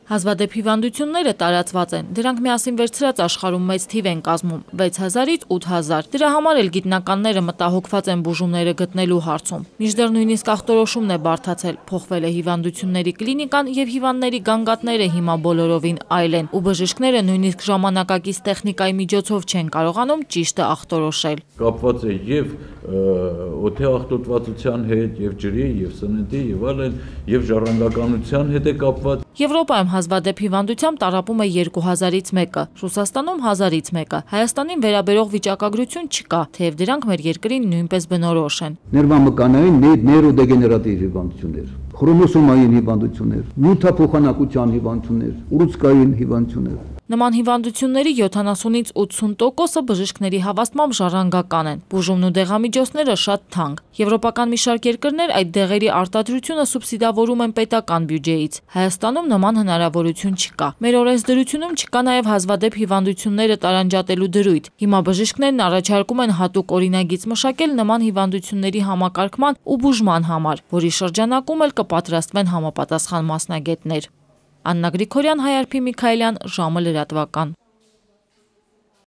Հազվադեպ հիվանդությունները տարածված են, դրանք միասին վերցրած աշխարհում մեծ թիվ են կազմում 6000-ից 8000, դրա համար էլ գիտնականները մտահոգված են բուժումները գտնելու հարցում, մինչդեռ նույնիսկ ախտորոշումն է բարդացել, փոխվել է հիվանդությունների կլինիկան եւ հիվանդների գանգատները հիմա բոլորովին այլ են, ու բժիշկները նույնիսկ ժամանակակից տեխնիկայի միջոցով չեն կարողանում ճիշտը ախտորոշել։ Կապված է եւ օդի ախտոտվածության հետ, եւ ջրի, եւ սննդի, եւ այլն, եւ ժառանգականության հետ է կապված։ Եվրոպայում հազվադեպ հիվանդությամբ տառապում է 2000-ից մեկը, Ռուսաստանում 1000-ից մեկը, Հայաստանին վերաբերող վիճակագրություն չկա, թեև դրանք մեր երկրին նույնպես բնորոշ են։ Ներվամկանային նեյրոդեգեներատիվ հիվանդություններ, խրոմոսոմային հիվանդություններ, նյութափոխանակության հիվանդություններ, ուռուցքային հիվանդություններ։ Նման հիվանդությունների 70-ից 80%-ը բժիշկների հավաստմամբ ժառանգական են, բուժումն ու դեղամիջոցները շատ թանկ։ Եվրոպական մի շարք երկրներ այդ դեղերի արտադրությունը սուբսիդավորում են պետական բյուջեից։ Հայաստանում նման հնարավորություն չկա։ Մեր օրենսդրությունում չկա նաև հազվադեպ հիվանդությունները տարանջատելու դրույթ։ Հիմա բժիշկներն առաջարկում են հատուկ օրինագիծ մշակել նման հիվանդությունների համակարգման ու բուժման համար, որի շրջանակում էլ կպատրաստվեն համապատասխան մասնագետներ։ Աննա Գրիգորյան, Հայ Արփի Միքայելյան, ժամը լրատվական։